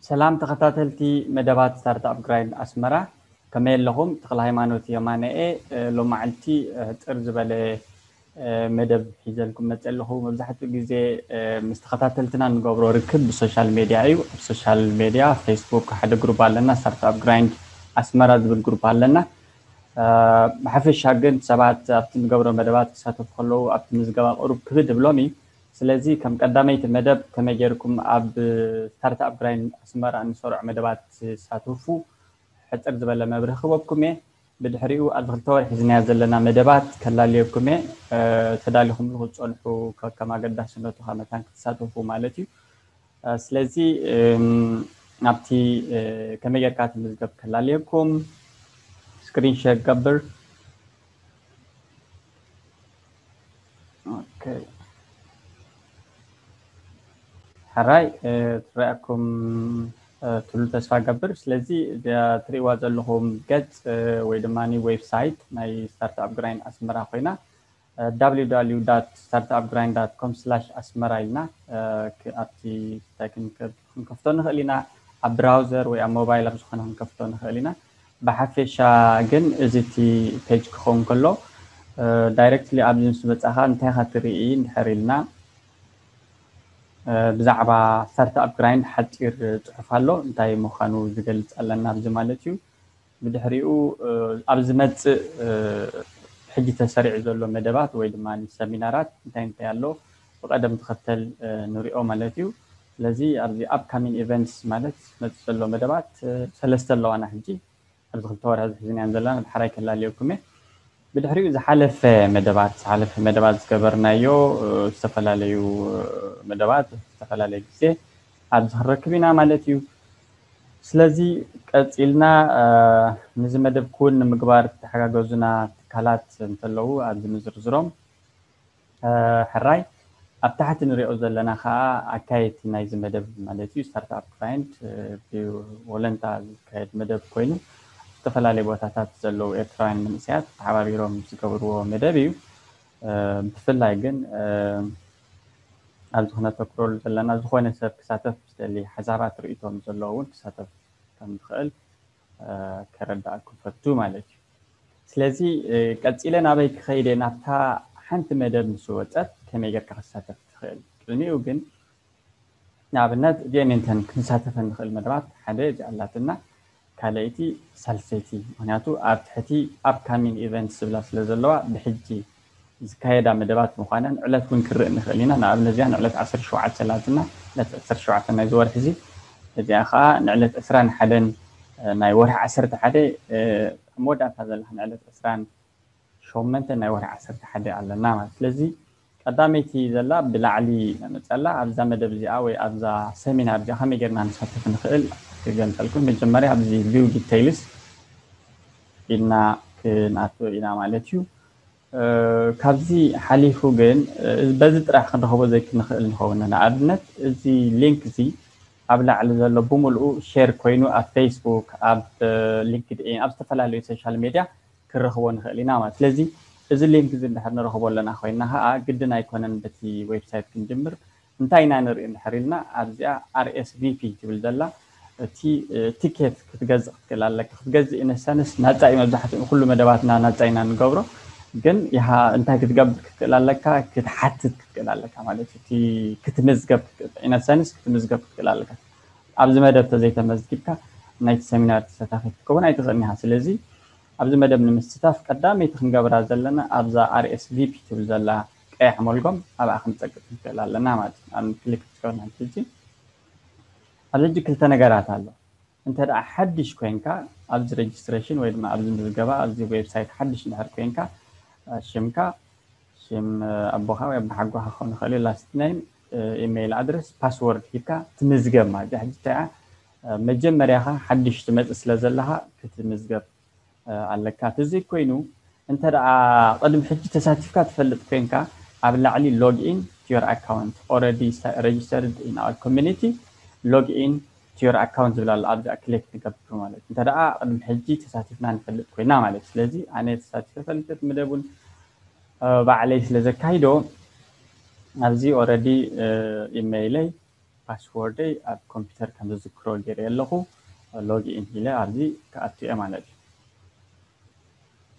ሰላም ተኸታተልቲ መደባት ስታርታፕ ግራይንድ ኣስመራ፣ ከመይ ኣለኹም? ተኽለ ሃይማኖት የማነኤ። እ፣ ሎማዓልቲ፣ እ፣ ሕጽር ዝበለ፣ እ፣ መደብ ሒዘልኩም መጽእ ኣለኹ። መብዛሕትኡ ግዜ፣ እ፣ ምስ ተኸታተልትና እንገብሮ ርክብ ብሶሻል ሜድያ እዩ። ኣብ ሶሻል ሜድያ ፌስቡክ ሓደ ግሩፕ ኣለና፣ ስታርታፕ ግራይንድ ኣስመራ ዝብል ግሩፕ ኣለና። እ፣ ብሓፈሻ ግን ሰባት ኣብቲ እንገብሮ መደባት ክሳተፉ ከለዉ ኣብቲ ምዝገባ ቁሩብ ክብድ ይብሎም እዩ። ስለዚ ከም ቀዳመይቲ መደብ ከመይ ጌርኩም ኣብ ስታርታፕ ግራይንድ ኣስመራ እንሰርዖ መደባት ትሳተፉ ሕጽር ዝበለ መብርሂ ክህበኩም እየ። ብድሕሪኡ ኣብዚ ክልተ ወርሒ ሒዝናዮ ዘለና መደባት ከላልየኩም እየ። እ፣ ተዳሊኹምሉ ክትጸንሑ ከ-፣ ከም ኣገዳስነቱ ካብ መታን ክትሳተፉ ማለት እዩ። እ፣ ስለዚ፣ እም፣ ናብቲ፣ እ፣ ከመይ ጌርካ ትምዝገብ ከላልየኩም ስክሪን ሸር ገብር። ኦኬ። ሕራይ፣ እ፣ ትረኣኩም፣ እ፣ ትህሉ ተስፋ ገብር። ስለዚ እዛ ትርእይዋ ዘለኹም ገጽ፣ እ፣ ወይ ድማ ዌብሳይት ናይ ስታርታፕ ግራይንድ ኣስመራ ኮይና፣ እ፣ www.startupgrind.com/asmara ኢልና፣ እ፣ ክ-፣ ኣብቲ እንታይ ክንከ-፣ ክንከፍቶ ንኽእል ኢና። ኣብ ብራውዘር ወይ ኣብ ሞባይል ኣብ ዝኾነ ክንከፍቶ ንኽእል ኢና። ብሓፈሻ ግን እዚ እቲ ፔጅ ክኸውን ከሎ፣ እ፣ ዳይሬክትሊ ኣብዚ ምስ መጻኻ እንታይ ኢኻ ትርኢ እንድሕር ኢልና፣ እ፣ ብዛዕባ ስታርታፕ ግራይንድ ሓጺር ጽሑፍ ኣሎ፣ እንታይ ምዃኑ ዝገልጽ ኣለና ኣብዚ ማለት እዩ። ብድሕሪኡ፣ እ፣ ኣብ ዝመጽእ፣ እ፣ ሕጂ ተሰሪዑ ዘሎ መደባት ወይ ድማ ሰሚናራት እንታይ እንታይ ኣሎ ብቐደም ተኸተል፣ እ፣ ንሪኦ ማለት እዩ። ስለዚ ኣብዚ ኣፕካሚንግ ኢቨንትስ ማለት ዝመጽእ ዘሎ መደባት፣ እ፣ ሰለስተ ኣለዋና ሕጂ። ኣብዚ ክልተ ወርሒ እዚ ሒዝናየን ዘለና ብሓራይ ከላልየኩም እየ። ብድሕሪኡ ዝሓለፈ መደባት፣ ዝሓለፈ መደባት ዝገበርናዮ፣ እ፣ ዝተፈላለዩ፣ እ፣ መደባት ዝተፈላለየ ግዜ ኣብዚ ክንረክብ ኢና ማለት እዩ። ስለዚ ቀጺልና፣ እ፣ ነዚ መደብ ክውን ንምግባር ዝተሓጋገዙና ትካላት እንተለዉ ኣብዚ ንዝርዝሮም። እ፣ ሕራይ ኣብ ታሕቲ ንሪኦ ዘለና ኸኣ ኣካየድቲ ናይዚ መደብ ማለት እዩ፣ ስታርታፕ ግራይንድ፣ እ፣ ብወለንታ ዝካየድ መደብ ኮይኑ፣ ኣብ ዝተፈላለዩ ቦታታት ዘለዉ ኤርትራውያን መንእሰያት ተሓባቢሮም ዝገብርዎ መደብ እዩ። እ፣ ብፍላይ ግን፣ እ፣ ኣብዚ ክነተኩረሉ ዘለና ዝኾነ ሰብ ክሳተፍ ዝደሊ ሓሳባት ርእይቶ ምስ ዘለዎ እውን ክሳተፍ ከም ዝኽእል፣ እ፣ ከረዳእኩም ፈቱ ማለት እዩ። ስለዚ፣ እ፣ ቀጺለ ናበይ ክኸይድ እየ? ናብታ ሓንቲ መደብ ምስ ወጸት ከመይ ጌርካ ክሳተፍ ትኽእል? ቅድሚኡ ግን ንኣብነት እዚአን እንተን ክንሳተፈ ንኽእል መደባት ሓደ እዚኣ ኣላትና፣ ካልኣይቲ ሳልሰይቲ። ምኽንያቱ ኣብ ትሕቲ ኣፕካሚንግ ኢቨንትስ ዝብላ ስለ ዘለዋ ብሕጂ ዝካየዳ መደባት ምዃነን ዕለት እውን ክንርኢ ንኽእል ኢና። ንኣብነት እዚኣ ንዕለት ዓሰርተ ሸውዓተ ኣላትና፣ ዕለት ዓሰርተ ሸውዓተ ናይዚ ወርሒ እዚ። እዚኣ ኸዓ ንዕለት ዕስራን ሓደን ናይ ወርሒ ዓሰርተ ሓደ፣ እ፣ ኣብ መወዳእታ ዘላ ንዕለት ዕስራን ሸሞንተ ናይ ወርሒ ዓሰርተ ሓደ ኣለና ማለት። ስለዚ ቀዳመይቲ ዘላ ብላዕሊ ነመጸላ ኣብዛ መደብ እዚኣ ወይ ኣብዛ ሰሚናር እዚኣ ከመይ ጌርና ንሳተፍ ንኽእል ክገልጸልኩም። መጀመርያ ኣብዚ ቪው ዲቴይልስ ኢልና ክንኣቱ ኢና ማለት እዩ። እ፣ ካብዚ ሓሊፉ ግን፣ እ፣ በዚ ጥራሕ ክንረኽቦ ዘይክንኽእል ንኸውን። ንኣብነት እዚ ሊንክ እዚ ኣብ ላዕሊ ዘሎ ብምልኡ ሼር ኮይኑ ኣብ ፌስቡክ፣ ኣብ፣ እ፣ ሊንክድኢን፣ ኣብ ዝተፈላለዩ ሶሻል ሜድያ ክንረኽቦ ንኽእል ኢና ማለት። ስለዚ እዚ ሊንክ እዚ እንድሕር ንረኽቦ ኣለና ኮይና ኸዓ ግድን ኣይኮነን በቲ ዌብሳይት ክንጅምር። እንታይ ኢና ንርኢ እንድሕር ኢልና ኣብዚኣ ኣር ኤስ ቪ ፒ ትብል ዘላ እቲ፣ እ፣ ቲኬት ክትገዝእ ክትክእል ኣለካ። ክትገዝእ ኢነሰንስ ናጻ እዩ። መብዛሕትኡ ኩሉ መደባትና ናጻ ኢና ንገብሮ። ግን ይሃ እንታይ ክትገብር ክትክእል ኣለካ? ክትሓትት ክትክእል ኣለካ ማለት እዩ። እቲ ክትምዝገብ ክትክእል፣ ኢነሰንስ ክትምዝገብ ክትክእል ኣለካ። ኣብዚ መደብ ተዘይተመዝጊብካ ናይቲ ሰሚናር ተሳታፊ ክትከውን ኣይትኽእልን ኢኻ። ስለዚ ኣብዚ መደብ ንምስታፍ ቀዳመይቲ ክንገብራ ዘለና ኣብዛ ኣር ኤስ ቪ ፒ ትብል ዘላ ቀያሕ መልጎም ኣብኣ ክንጸቅጥ ንክእል ኣለና ማለት እዩ። ኣብ ክሊክ ክትከውን ሕጂ ኣብዚ ሕጂ ክልተ ነገራት ኣሎ። እንተ ደኣ ሓድሽ ኮይንካ ኣብዚ ሬጅስትሬሽን ወይ ድማ ኣብዚ ምዝገባ ኣብዚ ዌብሳይት ሓድሽ እንድሕር ኮይንካ፣ እ፣ ሽምካ፣ ሽም፣ እ፣ ኣቦኻ ወይ ኣቦሓጎኻ ክኸውን ይኽእል እዩ፣ ላስት ኔም፣ እ፣ ኢሜይል ኣድረስ፣ ፓስወርድ ሂብካ ትምዝገብ ማለት እዩ። ሕጂ እንታይ እያ፣ እ፣ መጀመርያኻ ሓድሽ ትመጽእ ስለ ዘለኻ ክትምዝገብ፣ እ፣ ኣለካ። እቲ ዘይኮይኑ እንተ ደኣ ቅድሚ ሕጂ ተሳቲፍካ ትፈልጥ ኮይንካ ኣብ ላዕሊ ሎግ ኢን ቱ ዮር ኣካውንት ኦረዲ ሬጅስተርድ ኢን ኣወር ኮሚኒቲ ሎግ ኢን ቱ ዮር ኣካውንት ዝብል ኣሎ። ኣብዚኣ ክሊክ ንገብር ማለት እንተ ደኣ ቅድሚ ሕጂ ተሳቲፍና ንፈልጥ ኮይና ማለት። ስለዚ ኣነ ተሳቲፈ ፈልጥ መደብ እውን፣ እ፣ ባዕለይ ስለ ዘካይዶ ኣብዚ ኦረዲ፣ እ፣ ኢሜይለይ ፓስወርደይ ኣብ ኮምፒውተር ከም ዝዝክሮ ገይረ ኣለኹ። ሎግ ኢን ኢለ ኣብዚ ክኣቱ እየ ማለት እዩ።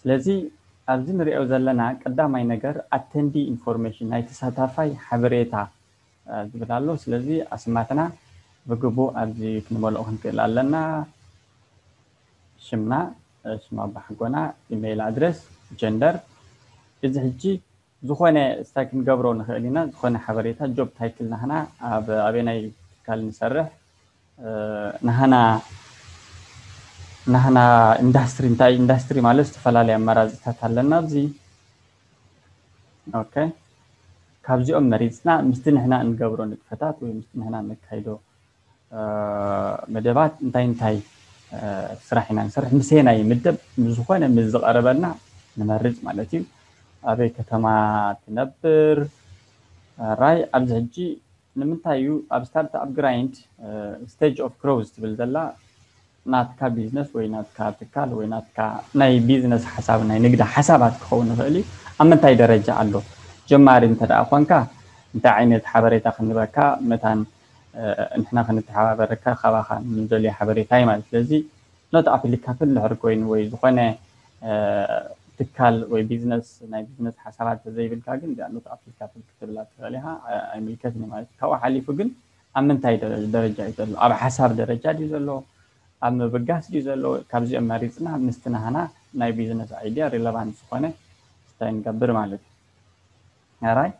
ስለዚ ኣብዚ ንሪኦ ዘለና ቀዳማይ ነገር ኣተንዲ ኢንፎርሜሽን ናይ ተሳታፋይ ሓበሬታ ዝብል ኣሎ። ስለዚ ኣስማትና ብግቡእ ኣብዚ ክንመልኦ ክንክእል ኣለና። ሽምና፣ ሽም ኣባሓጎና፣ ኢሜይል ኣድረስ፣ ጀንደር። እዚ ሕጂ ዝኾነ ስታይ ክንገብሮ ንኽእል ኢና። ዝኾነ ሓበሬታ ጆብ ታይትል ናህና ኣብ ኣበናይ ትካል ንሰርሕ፣ ናህና ናህና ኢንዳስትሪ እንታይ ኢንዳስትሪ ማለት ዝተፈላለዩ ኣማራፅታት ኣለና ኣብዚ። ኦኬ፣ ካብዚኦም መሪፅና ምስቲ ንሕና እንገብሮ ንጥፈታት ወይ ምስቲ ንሕና ነካይዶ መደባት እንታይ እንታይ ስራሕ ኢና ንሰርሕ፣ ምሰየናይ ምደብ ዝኾነ ምስ ዝቐረበልና ንመርፅ ማለት እዩ። ኣበይ ከተማ ትነብር? ራይ ኣብዚ ሕጂ ንምንታይ እዩ ኣብ ስታርት ኣፕ ግራይንድ ስቴጅ ኦፍ ግሮዝ ትብል ዘላ ናትካ ቢዝነስ ወይ ናትካ ትካል ወይ ናትካ ናይ ቢዝነስ ሓሳብ ናይ ንግዲ ሓሳባት ክኸውን ይኽእል እዩ። ኣብ ምንታይ ደረጃ ኣሎ? ጀማሪ እንተ ደኣ ኮንካ እንታይ ዓይነት ሓበሬታ ክንበካ መታን ንሕና ክንተሓባበረካ ካባኻ ንደልዮ ሓበሬታ እዩ ማለት። ስለዚ ኖት ኣፕሊካብል እንድሕር ኮይኑ ወይ ዝኾነ ትካል ወይ ቢዝነስ ናይ ቢዝነስ ሓሳባት ተዘይብልካ ግን እዚኣ ኖት ኣፕሊካብል ክትብላ ትኽእል ኢኻ። ኣይምልከትን ማለት ካብኡ ሓሊፉ ግን ኣብ ምንታይ ደረጃ እዩ ዘሎ? ኣብ ሓሳብ ደረጃ ድዩ ዘሎ? ኣብ ምብጋስ ድዩ ዘሎ? ካብዚኦም መሪፅና ምስቲ ናህና ናይ ቢዝነስ ኣይድያ ሪለቫንት ዝኾነ ስታይ ንገብር ማለት እዩ። ኣራይ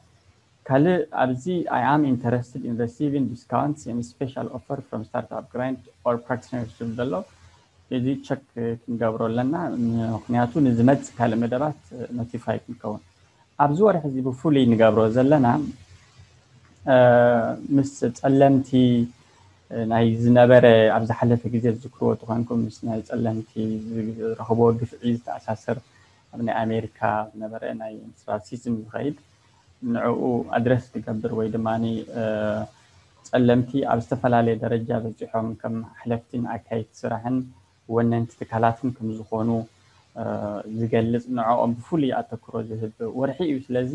ካልእ ኣብዚ I am interested in receiving discounts and special offer from startup grind or practitioners ዝብል ዘሎ እዚ ቸክ ክንገብሮ ኣለና። ምክንያቱ ንዝመፅእ ካልእ መደባት ኖቲፋይ ክንከውን ኣብዚ ወርሒ እዚ ብፍሉይ ንገብሮ ዘለና ምስ ጸለምቲ ናይ ዝነበረ ኣብ ዝሓለፈ ግዜ ዝዝክርዎ ተኾንኩም ምስ ናይ ጸለምቲ ዝረኽብዎ ግፍዒ ዝተኣሳሰር ኣብ ናይ ኣሜሪካ ዝነበረ ናይ ራሲዝም ዝኸይድ ንዕኡ ኣድረስ ዝገብር ወይ ድማ ጸለምቲ ኣብ ዝተፈላለየ ደረጃ በፂሖም ከም ሓለፍትን ኣካይት ስራሕን ወነንቲ ትካላትን ከም ዝኾኑ ዝገልፅ ንዕኦም ብፍሉይ ኣተክሮ ዝህብ ወርሒ እዩ። ስለዚ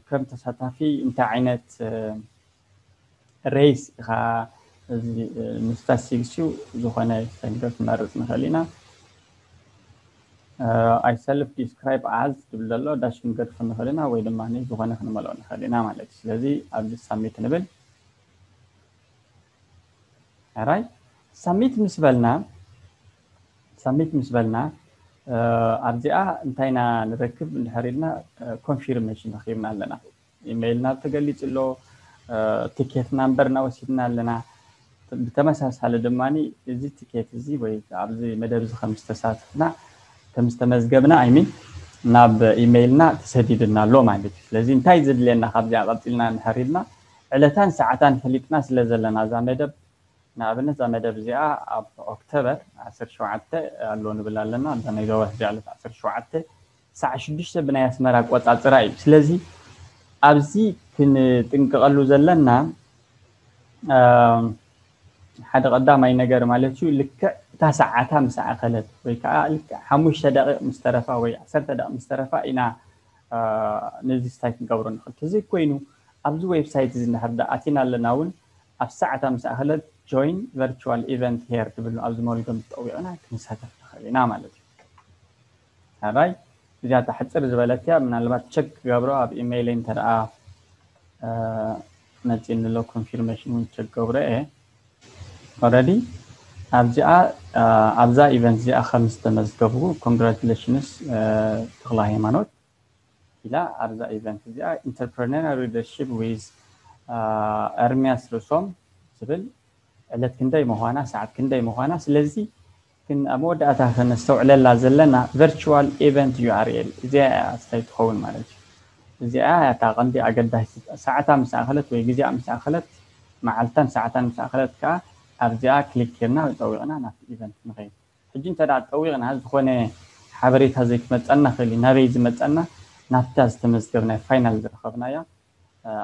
ከም ተሳታፊ እንታይ ዓይነት ሬስ ኢኻ እዚ ንስታስቲክስ እዩ ዝኾነ ሰንገር ክንመርፅ ንኽእል ኢና። ኣይ ሰልፍ ዲስክራይብ ኣዝ ዝብል ዘሎ ዳሽ ክንገድፎ ንኽእል ኢና ወይ ድማ ዝኾነ ክንመልኦ ንኽእል ኢና ማለት እዩ። ስለዚ ኣብዚ ሳሚት ንብል። ራይ ሳሚት ምስ በልና ሳሚት ምስ በልና ኣብዚኣ እንታይ ኢና ንረክብ እንድሕር ኢልና ኮንፊርሜሽን ረኪብና ኣለና። ኢሜይልና ተገሊፁ ኣሎ፣ ቲኬት ናምበርና ወሲድና ኣለና። ብተመሳሳሊ ድማ እዚ ቲኬት እዚ ወይ ኣብዚ መደብ እዚ ከም ዝተሳተፍና ከም ዝተመዝገብና ኣይሚን ናብ ኢሜይልና ተሰዲድና ኣሎ ማለት እዩ። ስለዚ እንታይ ዘድልየና ካብዚኣ ቀፂልና እንድሕር ኢልና ዕለታን ሰዓታን ፈሊጥና ስለ ዘለና እዛ መደብ ንኣብነት እዛ መደብ እዚኣ ኣብ ኦክቶበር ዓሰርተ ሸውዓተ ኣሎ ንብል ኣለና። እዛ ናይ ዞባ ሕዚ ዕለት ዓሰርተ ሸውዓተ ሰዓት ሽዱሽተ ብናይ ኣስመራ ኣቆፃፅራ እዩ። ስለዚ ኣብዚ ክንጥንቀቐሉ ዘለና ሓደ ቀዳማይ ነገር ማለት እዩ ልክዕ እታ ሰዓታ ምስ ኣኸለት ወይ ከዓ ልክዕ ሓሙሽተ ደቂቕ ምስ ተረፋ ወይ ዓሰርተ ደቂቕ ምስ ተረፋ ኢና ነዚ ስታይ ክንገብሮ ንኽእል። ተዘይኮይኑ ኣብዚ ዌብሳይት እዚ እንድሕር ዳ ኣቲና ኣለና እውን ኣብ ሰዓታ ምስ ኣኸለት ጆይን ቨርቹዋል ኢቨንት ሄር ትብል ኣብዚ መወልገም ጠዊቕና ክንሳተፍ ንኽእል ኢና ማለት እዩ። ኣራይ እዚኣ ተሕፅር ዝበለት እያ። ምናልባት ቸክ ክገብሮ ኣብ ኢሜይለይ እንተደኣ መፂእኒ ኣሎ ኮንፊርሜሽን እውን ቸክ ገብሮ እየ። ኦረዲ ኣብዚኣ ኣብዛ ኢቨንት እዚኣ ከም ዝተመዝገብኩ ኮንግራቹሌሽንስ ተኽለ ሃይማኖት ኢላ ኣብዛ ኢቨንት እዚኣ ኢንተርፕረነር ሊደርሽፕ ዊዝ ኤርሚያስ ርሶም ዝብል ዕለት ክንደይ ምዃና ሰዓት ክንደይ ምዃና ስለዚ ግን ኣብ መወዳእታ ከነስተውዕለላ ዘለና ቨርቹዋል ኢቨንት ዩ ኣር ኤል እዚኣ እያ ስታይ ትኸውን ማለት እዩ። እዚኣ እታ ቀንዲ ኣገዳሲት ሰዓታ ምስ ኣኸለት ወይ ግዜኣ ምስ ኣኸለት መዓልታን ሰዓታን ምስ ኣኸለት ከዓ ኣብዚኣ ክሊክ ጌርና ጠዊቕና ናብቲ ኢቨንት ንኸይድ። ሕጂ እንተ ደኣ ጠዊቕና ዝኾነ ሓበሬታ ዘይክመፀና ክእል እዩ። ናበይ ዝመፀና ናብታ ዝተመዝገብናዮ ፋይናል ዝረኸብናያ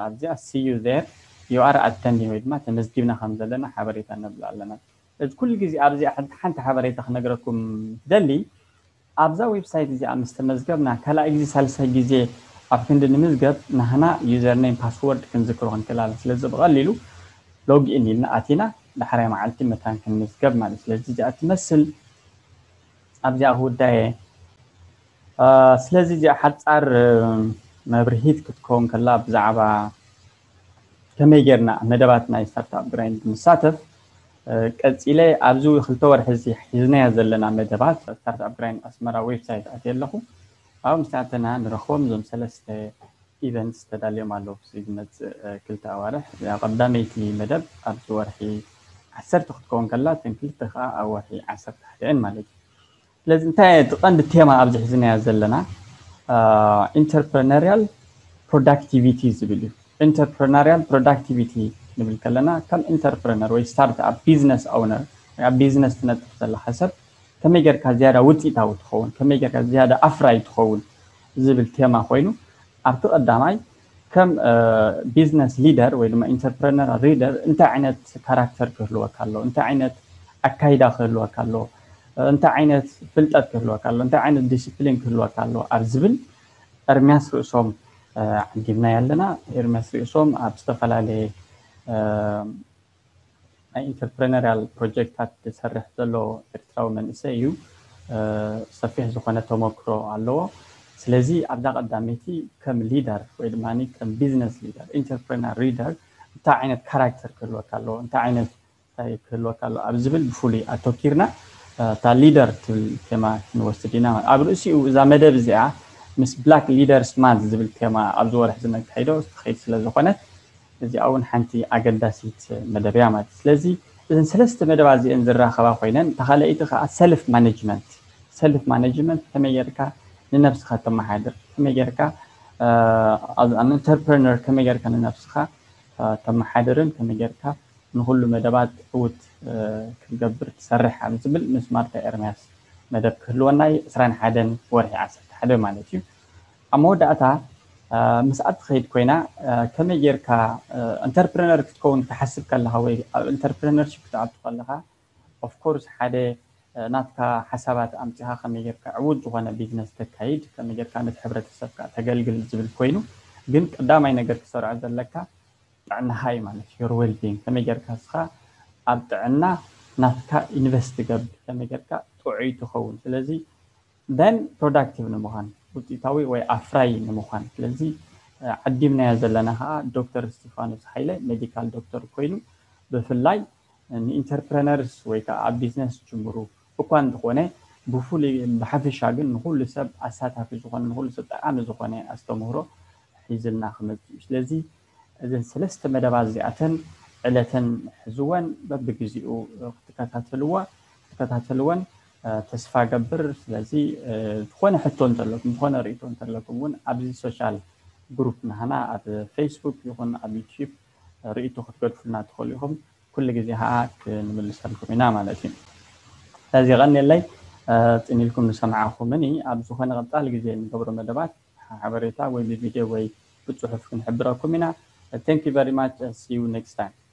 ኣብዚኣ see you there you are attending ወይ ድማ ተመዝጊብና ከም ዘለና ሓበሬታ ነብላ ኣለና። እዚ ኩሉ ግዜ ኣብዚኣ ሓንቲ ሓንቲ ሓበሬታ ክነግረኩም ደሊ ኣብዛ ዌብሳይት እዚኣ ምስ ተመዝገብና ካልኣይ ግዜ ሳልሳይ ግዜ ኣብ ክንዲ ንምዝገብ ናህና ዩዘርኔም ፓስወርድ ክንዝክሮ ክንክእል ኣለና። ስለዚ ብቐሊሉ log in ኢልና ኣቲና ዳሕራይ መዓልቲ መታን ክንምዝገብ ማለት። ስለዚ እዚኣ ትመስል ኣብዚኣ ክውዳየ። ስለዚ እዚኣ ሓጻር መብርሂት ክትከውን ከላ ብዛዕባ ከመይ ጌርና መደባት ናይ ስታርታፕ ግራይንድ ንሳተፍ። ቀጺለ ኣብዚ ክልተ ወርሒ እዚ ሒዝናያ ዘለና መደባት ስታርታፕ ግራይንድ ኣስመራ ዌብሳይት ኣትየ ኣለኹ። ኣብኡ ምስ ኣተና ንረኽቦም እዞም ሰለስተ ኢቨንትስ ተዳልዮም ኣለዉ። ዝመጽእ ክልተ ኣዋርሕ እዚኣ ቀዳመይቲ መደብ ኣብዚ ወርሒ ዓሰርተ ክትከውን ከላ እተን ክልተ ከዓ ኣብ ወርሒ ዓሰርተ ሓደ እየን ማለት እዩ። ስለዚ እንታይ እቲ ቀንዲ ቴማ ኣብዚ ሒዝናዮ ዘለና ኢንተርፕረነሪያል ፕሮዳክቲቪቲ ዝብል እዩ። ኢንተርፕረነሪያል ፕሮዳክቲቪቲ ንብል ከለና ከም ኢንተርፕረነር ወይ ስታርት ኣፕ ቢዝነስ ኦውነር ወይ ኣብ ቢዝነስ ትነጥፍ ዘለካ ሰብ ከመይ ጌርካ ዝያዳ ውፅኢታዊ ትኸውን፣ ከመይ ጌርካ ዝያዳ ኣፍራይ ትኸውን ዝብል ቴማ ኮይኑ ኣብቲ ቀዳማይ ከም ቢዝነስ ሊደር ወይ ድማ ኢንተርፕረነር ሊደር እንታይ ዓይነት ካራክተር ክህልወካ ኣለዎ፣ እንታይ ዓይነት ኣካይዳ ክህልወካ ኣለዎ፣ እንታይ ዓይነት ፍልጠት ክህልወካ ኣለዎ፣ እንታይ ዓይነት ዲስፕሊን ክህልወካ ኣለዎ ኣብ ዝብል ኤርሚያስ ርእሶም ዓዲምናዮ ኣለና። ኤርሚያስ ርእሶም ኣብ ዝተፈላለየ ናይ ኢንተርፕረነሪያል ፕሮጀክታት ዝሰርሕ ዘሎ ኤርትራዊ መንእሰይ እዩ። ሰፊሕ ዝኾነ ተመክሮ ኣለዎ። ስለዚ ኣብዛ ቀዳመይቲ ከም ሊደር ወይ ድማ ከም ቢዝነስ ሊደር ኢንተርፕረነር ሊደር እንታይ ዓይነት ካራክተር ክህልወካ ኣለዎ፣ እንታይ ዓይነት እንታይ ክህልወካ ኣለዎ ኣብ ዝብል ብፍሉይ ኣተኪርና እታ ሊደር ትብል ቴማ ክንወስድ ኢና። ኣብ ርእሲኡ እዛ መደብ እዚኣ ምስ ብላክ ሊደርስ ማንት ዝብል ቴማ ኣብዚ ወርሒ ዝነካይዶ ትኸይድ ስለ ዝኾነት እዚኣ እውን ሓንቲ ኣገዳሲት መደብ እያ ማለት እዩ። ስለዚ እዘን ሰለስተ መደባት እዚአን ዝራኸባ ኮይነን እታ ካልኣይቲ ከዓ ሰልፍ ማኔጅመንት ሰልፍ ማኔጅመንት ከመይ ጌርካ ንነብስኻ ተመሓድር፣ ከመይ ጌርካ ኢንተርፕረነር ከመይ ጌርካ ንነብስኻ ተመሓድርን ከመይ ጌርካ ንኹሉ መደባት ዕውት ክትገብር ትሰርሕ ኣብ ዝብል ምስ ማርታ ኤርምያስ መደብ ክህልወና እዩ። ዕስራን ሓደን ወርሒ ዓሰርተ ሓደ ማለት እዩ። ኣብ መወዳእታ ምስኣ ትኸይድ ኮይና ከመይ ጌርካ ኢንተርፕረነር ክትከውን ትሓስብ ከለኻ ወይ ኣብ ኢንተርፕረነርሺፕ ክትኣቱ ከለኻ ኦፍኮርስ ሓደ ናትካ ሓሳባት ኣምፂኻ ከመይ ጌርካ ዕዉት ዝኾነ ቢዝነስ ተካይድ ከመይ ጌርካ ነቲ ሕብረተሰብካ ተገልግል ዝብል ኮይኑ ግን ቀዳማይ ነገር ክሰርዖ ዘለካ ጥዕናኻ እዩ ማለት እዩ። ዌልቢንግ ከመይ ጌርካ እስኻ ኣብ ጥዕና ናትካ ኢንቨስት ትገብር ከመይ ጌርካ ጥዑይ ትኸውን። ስለዚ ደን ፕሮዳክቲቭ ንምዃን ውፅኢታዊ ወይ ኣፍራይ ንምዃን ስለዚ ዓዲምናዮ ዘለና ከዓ ዶክተር እስቲፋኖስ ሓይለ ሜዲካል ዶክተር ኮይኑ ብፍላይ ንኢንተርፕረነርስ ወይ ከዓ ኣብ ቢዝነስ ጅምሩ እኳ እንተኾነ ብፍሉይ ብሓፈሻ ግን ንኩሉ ሰብ ኣሳታፊ ዝኾነ ንኩሉ ሰብ ጠቃሚ ዝኾነ ኣስተምህሮ ሒዝልና ክመፅእ እዩ። ስለዚ እዘን ሰለስተ መደባት እዚኣተን ዕለተን ሕዝወን በብግዜኡ ክትከታተልዋ ክትከታተልወን ተስፋ ገብር። ስለዚ ዝኾነ ሕቶ እንተለኩም ዝኾነ ርእቶ እንተለኩም እውን ኣብዚ ሶሻል ግሩፕ ናህና ኣብ ፌስቡክ ይኹን ኣብ ዩቲዩብ ርእቶ ክትገድፉልና ትኽእሉ ኢኹም። ኩሉ ግዜ ከዓ ክንምልሰልኩም ኢና ማለት እዩ። ስለዚ ቀኒለይ ፅን ኢልኩም ንሰምዓኹምን ኣብ ዝኾነ ቀፃሊ ግዜ ንገብሮ መደባት ሓበሬታ ወይ ብቪድዮ ወይ ብፅሑፍ ክንሕብረኩም ኢና። Thank you very much. See you next time.